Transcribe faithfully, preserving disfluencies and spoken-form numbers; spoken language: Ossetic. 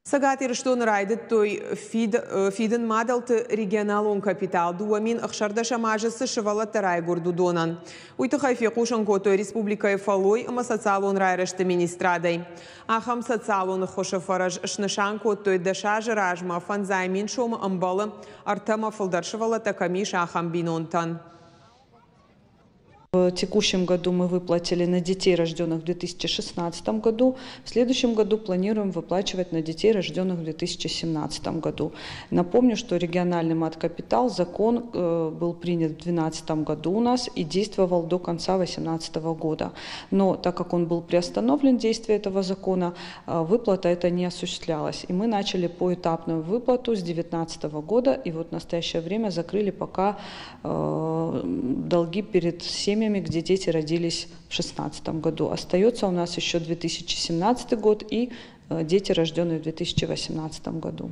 Цӕгат Ирыстоны райдыдтой фидын мадӕлты регионалон капитал, дыууӕ мин ӕхсӕрдӕсӕм азы цы сывӕллӕттӕ райгуырд, уыдонӕн. Уый тыххӕй фехъусын кодтой республикӕйы фӕллой ӕмӕ социалон райрӕзты министрадӕй. Ахӕм социалон ӕххуысы фӕрӕз снысан кодтой дӕс азы размӕ. Фӕндзай мин сомы ӕмбӕлы, ӕртӕмӕ фылдӕр сывӕллӕттӕ кӕм ис, ахӕм бинонтӕн. В текущем году мы выплатили на детей, рожденных в две тысячи шестнадцатом году. В следующем году планируем выплачивать на детей, рожденных в две тысячи семнадцатом году. Напомню, что региональный мат-капитал, закон, э, был принят в две тысячи двенадцатом году у нас и действовал до конца две тысячи восемнадцатого года. Но так как он был приостановлен, действие этого закона, э, выплата эта не осуществлялась. И мы начали поэтапную выплату с две тысячи девятнадцатого года. И вот в настоящее время закрыли пока, э, долги перед семьями, где дети родились в шестнадцатом году. Остается у нас еще две тысячи семнадцатый год и, э, дети, рожденные в две тысячи восемнадцатом году.